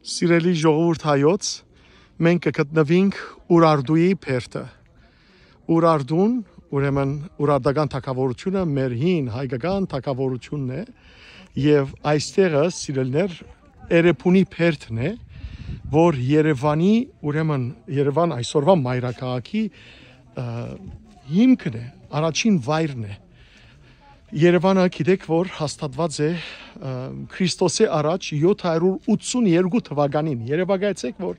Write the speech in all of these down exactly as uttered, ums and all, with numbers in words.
Սիրելի ժողովուրդ հայոց, մենք կը գտնուինք Ուրարտուի բերդը։ Ուրարտուն, ուրեմն, Ուրարտական թագաւորութիւնը մեր հին հայկական թագաւորութիւնն է, եւ այստեղը, սիրելիներ, Էրեբունի բերդն է, որ Երեւանի, ուրեմն, Երեւան այսօրվա մայրաքաղաքի, ը, հիմքն է, առաջին վայրն է։ Երեւանը, գիտեք, որ հաստատուած է, ը, Քրիստոսի առաջ յոթ հարիւր ութսուն երկու թվականին։ Երեւակայեցէք, որ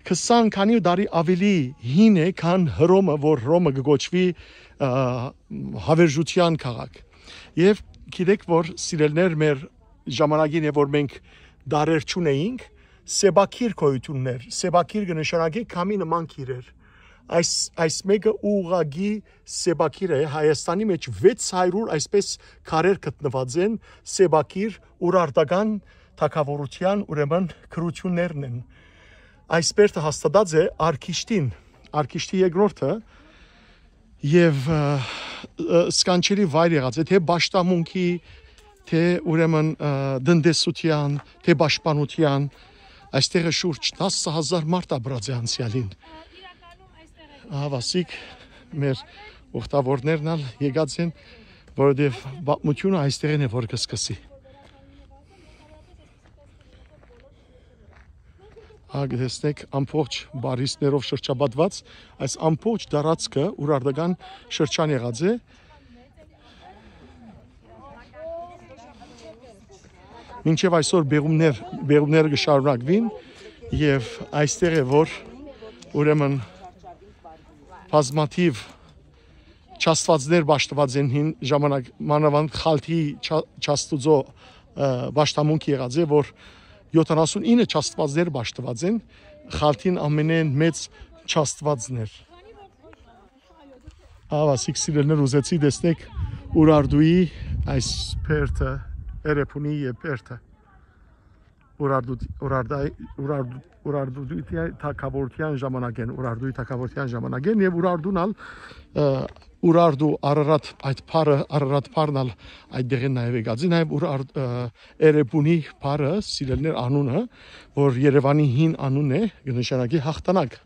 քսան քանի տարի աւելի հին է, քան Հռոմը, որ Հռոմը կը կոչուի, ը, Հավերժութեան քաղաք։ Եւ գիտեք, որ, սիրելիներ, մեր ժամանակին է, որ մենք դարեր չունեինք, սեպագիր գոյութիւններ, սեպագիր կը նշանակի քամի նման գիրեր։ Այս, այս մէկը ուղղակի սեպագիր է, Հայաստանի մէջ վեց հարիւր այսպես քարեր գտնուած են, սեպագիր, Ուրարտական թագաւորութեան, ուրեմն, գրութիւններն են։ Այս բերդը հաստատած է Արքիշտին, Արքիշտի երկրորդը, եւ, ը, ը, սքանչելի վայր եղած է, թէ պաշտամունքի, թէ, ուրեմն, ը, տնտեսութեան, թէ պաշտպանութեան, այստեղը շուրջ տասը հազար մարդ ապրած է անցեալին։ Ահա, ասիկ, մեր ուխտավորներն ալ եկած են, որովհետեւ պատմութիւնը այստեղէն է, որ կը սկսի։ Ահա, կը տեսնէք, ամբողջ բարիսներով շրջապատուած, այս ամբողջ տարածքը Ուրարտական շրջան եղած է։ Մինչեւ այսօր բեղումներ, բեղումները կը շարունակուին, եւ այստեղ է, որ, ուրեմն, բազմաթիւ չաստուածներ պաշտուած են հին ժամանակ, մանաւանդ Խալթի չա-, չաստուծո, ը, պաշտամունք եղած է, որ յոթանասուն ինը չաստուածներ պաշտուած են, Խալթին ամենէն մեծ չաստուածն էր։ Ահա, ասիկ, սիրելիներ, ուզեցի տեսնեք Ուրարտուի այս բերդը, Էրեբունի եւ բերդը։ Ուրարտու-, Ուրարտայ-, Ուրարտու-, Ուրարտուի թագաւորութեան ժամանակէն, Ուրարտուի թագաւորութեան ժամանակէն եւ Ուրարտուն ալ, ը, Ուրարտու Արարատ, այդ բառը, Արարատ բառն ալ այդտեղէն նաեւ եկած է, նաեւ Ուրարտ-, ը, Էրեբունի բառը, սիրելիներ, անունը, որ Երեւանի հին անունն է, կը նշանակի յաղթանակ։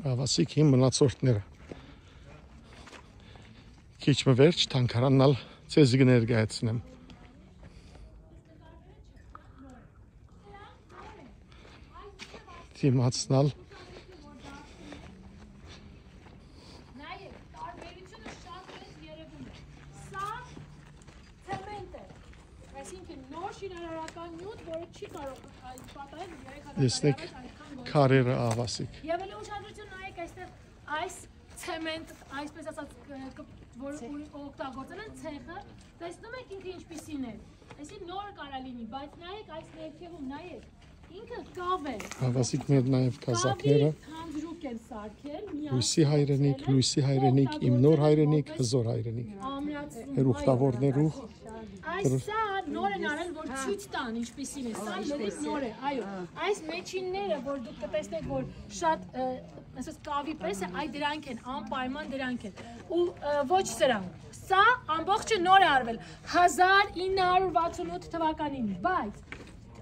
Ահա, ասիկ, հին մնացորդները։ Քիչ մը վերջ թանգարանն ալ ձեզի կը ներկայացնեմ։ Դիմացն ալ։ Նայեք, տարբերությունը շատ մեծ երևում է։ Սա ցեմենտ է, այսինքն նոր շինարարական նիւթ, որը չի կարող, ա, պատահել երեք հազար Տեսնեք, տարի առաջ այնքան գոյություն քարերը, ահա, ասիկ։ Եւ ելի ուշադրություն նայեք այստեղ, այս ցեմենտ, այսպես ասած, կ-, կ-, որ Ցե- ուրիշ օգտագործել են ցեխը, տեսնում եք ինքը ինչպիսին է։ Այսինքն նոր կարա լինի, բայց նայեք այս ներքևում, նայեք, ինքը կաւ է։ Ահա, ասիկ, մեր նաեւ կազակները։ Կավի թանձրուկ են սարքել, միացնում Լոյսի հայրենիք, են, Լոյսի հայրենիք, իմ նոր օգտագործել հայրենիք, են հզոր հայրենիք։ Ամրացնում, Մեր ուխտավորներու։ Այս սա նոր են արել, որ ցույց տան ինչպիսին է, սա լրիվ նոր է, այո։ Այս մեջինները, որ դուք կտեսնեք, որ շատ, ը, ասես կավի պես է, այ դրանք են, անպայման դրանք են։ Ու, ը, ոչ սրանք։ Սա ամբողջը նոր է արվել հազար ինը հարյուր վաթսուն ութ թվականին, բայց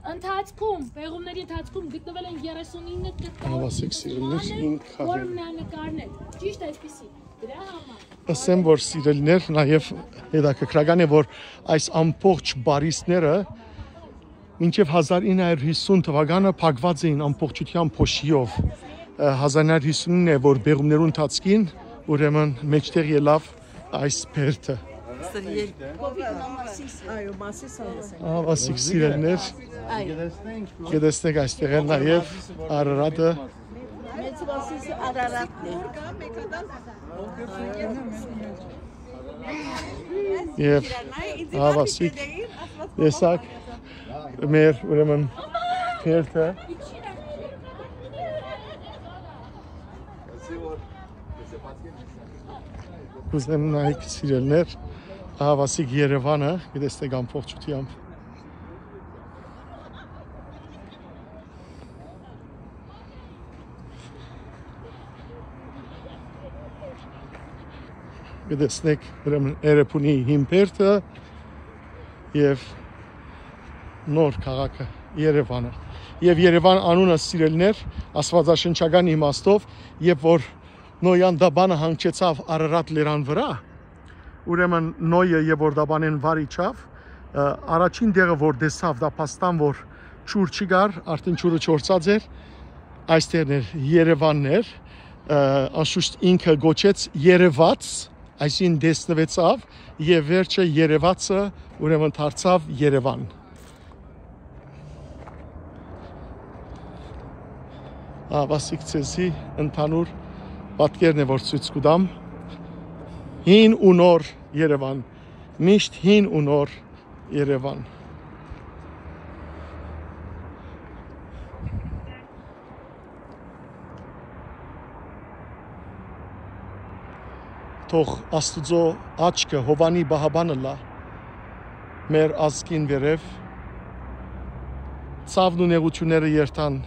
ընթացքում, պեղումների ընթացքում գտնվել են երեսուն ինը կտոր Ահա, ասեք, սիրելիներ, մանը, ինքը որ մնանկարներ, ճիշտ այսպիսի, դրա համար։ Ասեմ, որ, սիրելիներ, նաև հետաքրքրական է, որ այս ամբողջ բարիսները մինչև հազար ինը հարյուր հիսուն թվականը փակված էին ամբողջությամբ փոշիով։ Ը, հազար ինը հարյուր հիսունին է, որ պեղումներու ընթացքին, ուրեմն, մեջտեղ ելավ այս բերդը։ Սրիել։ Այո, մասիս։ Ահա, ասիկ, սիրելիներ, Այո։ կտեսնեք այստեղ են նաև Արարատը։ Մեծ մասիս Արարատն է։ Եվ ահա, ասիկ, տեսակ մեր, ուրեմն, բերդը։ Կուզեմ նայեք, սիրելիներ, ահա, ասիկ, Երևանը, կտեսնեք ամբողջությամբ։ Կտեսնեք, ուրեմն, Էրեբունի հին բերդը, եւ նոր քաղաքը՝ Երեւանը։ Եւ Երեւան անունը, սիրելիներ, աստվածաշնչական իմաստով, երբ որ Նոյ Անտապանը հանգչեցաւ Արարատ լերան վրայ, ուրեմն Նոյը երբ որ Անտապանէն վար իջաւ, ը, առաջին տեղը որ տեսաւ, դա փաստան որ ջուր չի կար, արդեն ջուրը չորցած էր, այս տեղն էր, Երեւանն էր, ը, անշուշտ ինքը կոչեց երեւած, այսինքն տեսնուեցաւ, եւ վերջը երեւածը ուրեմն դարձաւ Երեւան։ Ահա, սիկ ձեզի ընդհանուր պատկերն է, որ ցոյց կու տամ։ Հին ու նոր Երեւան, միշտ հին ու նոր Երեւան։ Թող Աստուծոյ աչքը, Յովհաննի պահապան ըլլայ մեր ազգին վերեւ, ցաւն ու նեղութիւնները երթան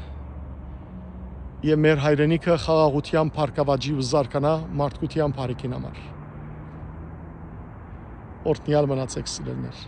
եւ մեր հայրենիքը խաղաղութեան բարգաւաճի ու զարգանայ մարդկութեան բարիքին համար։ Օրհնեալ մնացէք, սիրելիներ։